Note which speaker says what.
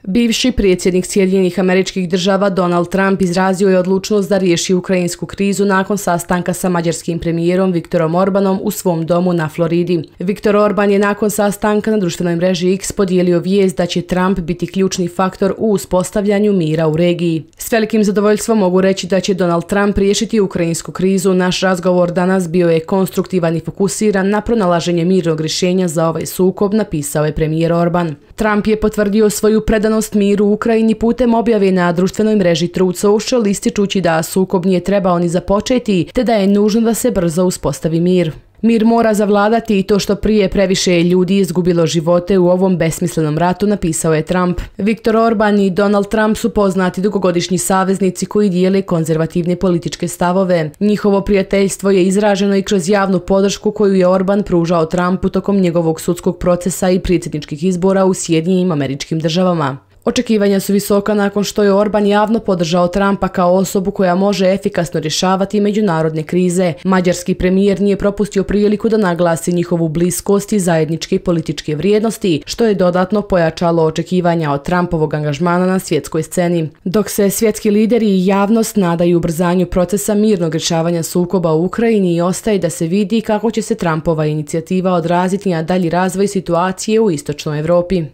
Speaker 1: Bivši predsjednik Sjedinjenih Američkih Država Donald Trump izrazio je odlučnost da riješi ukrajinsku krizu nakon sastanka sa mađarskim premijerom Viktorom Orbanom u svom domu na Floridi. Viktor Orban je nakon sastanka na društvenoj mreži X podijelio vijest da će Trump biti ključni faktor u uspostavljanju mira u regiji. S velikim zadovoljstvom mogu reći da će Donald Trump riješiti ukrajinsku krizu. Naš razgovor danas bio je konstruktivan i fokusiran na pronalaženje mirnog rješenja za ovaj sukob, napisao je premijer Orban. Trump je potvrdio svoju predanost miru u Ukrajini putem objave na društvenoj mreži Truth Social, ističući da sukob nije trebao ni započeti, te da je nužno da se brzo uspostavi mir. Mir mora zavladati i to što prije, previše je ljudi izgubilo živote u ovom besmislenom ratu, napisao je Trump. Viktor Orban i Donald Trump su poznati dugogodišnji saveznici koji dijele konzervativne političke stavove. Njihovo prijateljstvo je izraženo i kroz javnu podršku koju je Orban pružao Trumpu tokom njegovog sudskog procesa i predsjedničkih izbora u Sjedinjenim Američkim Državama. Očekivanja su visoka nakon što je Orban javno podržao Trumpa kao osobu koja može efikasno rješavati međunarodne krize. Mađarski premijer nije propustio priliku da naglasi njihovu bliskost i zajedničke političke vrijednosti, što je dodatno pojačalo očekivanja od Trumpovog angažmana na svjetskoj sceni. Dok se svjetski lideri i javnost nadaju ubrzanju procesa mirnog rješavanja sukoba u Ukrajini, ostaje da se vidi kako će se Trumpova inicijativa odraziti na dalji razvoj situacije u istočnoj Europi.